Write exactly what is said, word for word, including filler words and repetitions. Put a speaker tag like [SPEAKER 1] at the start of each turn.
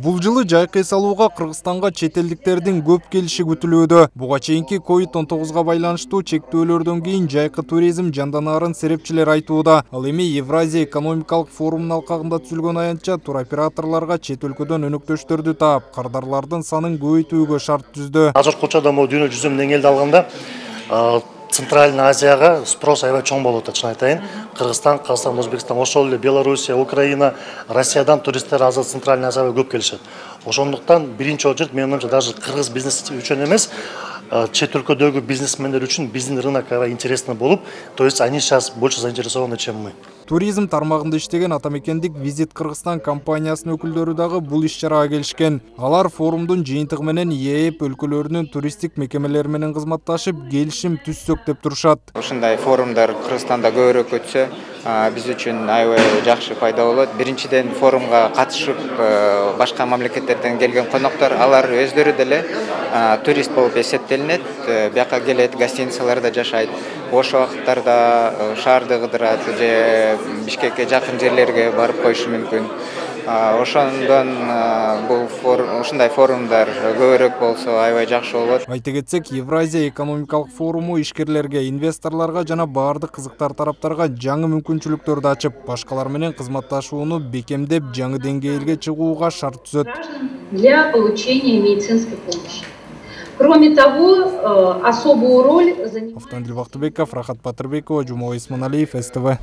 [SPEAKER 1] Бул жылы жайкы эс алууга Кыргызстанга чет элдиктердин көп келиши күтүлүүдө. Буга чейинки ковид он тогузга байланыштуу чектөөлөрдөн кийин жайкы туризм жанданаарын серепчилер айтууда. Ал эми Евразия экономикалык форумунун алкагында түзүлгөн аянтча туроператорлорго чет өлкөдөн өнөктөштөрдү таап, кардарлардын санын көбөйтүүгө шарт түздү.
[SPEAKER 2] Азыркы учурда могу дүйнө жүзүнүн деңгээлде алганда Центральный Азияга спрос аябай чоң болуп атат, чын айтайын. Кыргызстан, Казакстан, Өзбекстан, ошол эле Белоруссия, Украина, Россиядан туристтер азыр Центральный Азияга көп келишет. Ошондуктан биринчи очередь менин оюмча даже кыргыз бизнеси үчүн эмес, чет өлкөдөгү бизнесмендер үчүн биздин рынок аябай интересный болуп, то есть они сейчас больше заинтересованы, чем мы.
[SPEAKER 1] Туризм тармагында иштеген Атамекендик Визит Кыргызстан компаниясынын өкүлдөрү дагы бул иш-чарага келишкен. Алар форумдун жыйынтыгы менен ЕЭП өлкөлөрүнүн туристтик мекемелери менен кызматташып, келишим түзсөк деп турушат.
[SPEAKER 3] Ушундай форумдар Кыргызстанда көбүрөөк өтсө, биз үчүн аябай жакшы пайда болот. Биринчиден форумга катышып, башка мамлекеттерден келген коноктор, алар өздөрү деле турист болуп эсептелинет, бияка келет, гостиницаларда жашайт. Бош убакыттарда шаарды кыдырат же Бишкекке жакын жерлерге барып коюшу мүмкүн. Ошондон бул ушундай форумдар көбүрөөк болсо аябай жакшы болот.
[SPEAKER 1] Айта кетсек, Евразия экономикалык форуму ишкерлерге, инвесторлорго жана баардык кызыктар тараптарга жаңы мүмкүнчүлүктөрдү ачып, башкалар менен кызматташууну бекемдеп, жаңы деңгээлге чыгууга шарт түзөт.
[SPEAKER 4] Для получения медицинской помощи. Кроме того, особую роль занимает...
[SPEAKER 1] Автандил Бактыбеков, Рахат Батырбекова, Жумалай Исманалиев, СТВ.